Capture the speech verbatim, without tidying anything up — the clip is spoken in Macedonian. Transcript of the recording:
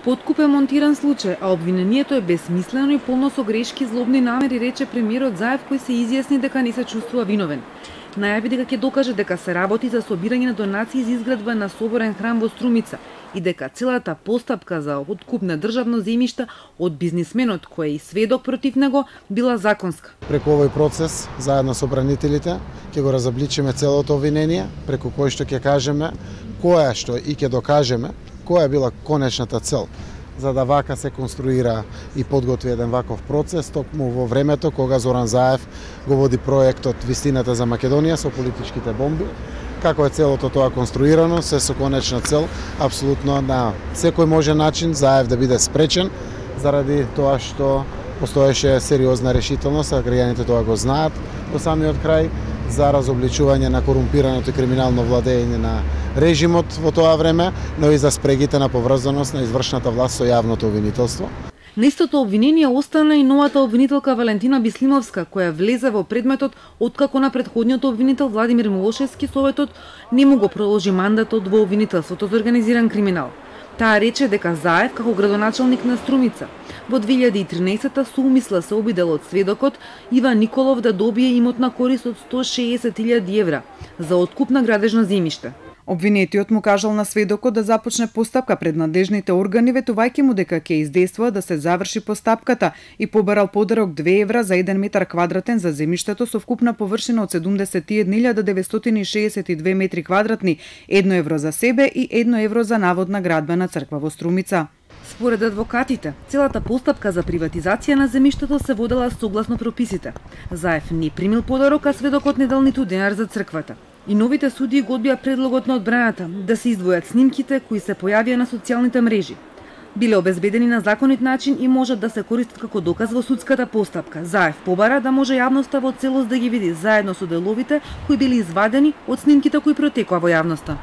Подкуп е монтиран случај, а обвинението е безсмислено и полно со грешки и злобни намери, рече премиерот Заев, кој се изјасни дека не се чувствува виновен. Најави дека ќе докаже дека се работи за собирање на донации за изградба на соборен храм во Струмица и дека целата постапка за откуп на државно земјиште од бизнисменот кој е и сведок против него била законска. Преку овој процес, заедно со бранителите, ќе го разобличиме целото обвинение, преку кој што ќе кажеме која што и ќе докажеме која била конечната цел, за да вака се конструира и подготви еден ваков процес, токму во времето кога Зоран Заев го води проектот Вистината за Македонија со политичките бомби. Како е целото тоа конструирано, се со конечна цел, апсолутно на секој можен начин Заев да биде спречен, заради тоа што постоеше сериозна решителност, а граѓаните тоа го знаат до самиот крај, за разобличување на корумпираното и криминално владење на режимот во тоа време, но и за спрегите на поврзаност на извршната власт со јавното обвинителство. На истото обвинение остана и новата обвинителка Валентина Бислимовска, која влезе во предметот откако на претходниот обвинител Владимир Милошевски Советот не му го продолжи мандатот во обвинителството за организиран криминал. Таа рече дека Заев, како градоначалник на Струмица, во две илјади и тринаесетта со умисла се обидел од сведокот Иван Николов да добие имотна корист од сто шеесет илјади евра за откуп на градежно земјиште. Обвинетиот му кажал на сведокот да започне постапка пред надлежните органи, ветувајќи му дека ќе издействува да се заврши постапката и побарал подарок две евра за еден метар квадратен за земјиштето со вкупна површина од седумдесет и една илјада деветстотини и шеесет и две метри квадратни, едно евро за себе и едно евро за наводна градбена црква во Струмица. Според адвокатите, целата постапка за приватизација на земјиштето се водела согласно прописите. Заев не примил подарок, а сведокот не дал ниту денар за црквата. И новите судии го одбија предлогот на одбраната да се издвојат снимките кои се појавија на социјалните мрежи. Биле обезбедени на законит начин и можат да се користат како доказ во судската постапка. Заев побара да може јавноста во целост да ги види заедно со деловите кои били извадени од снимките кои протекоа во јавноста.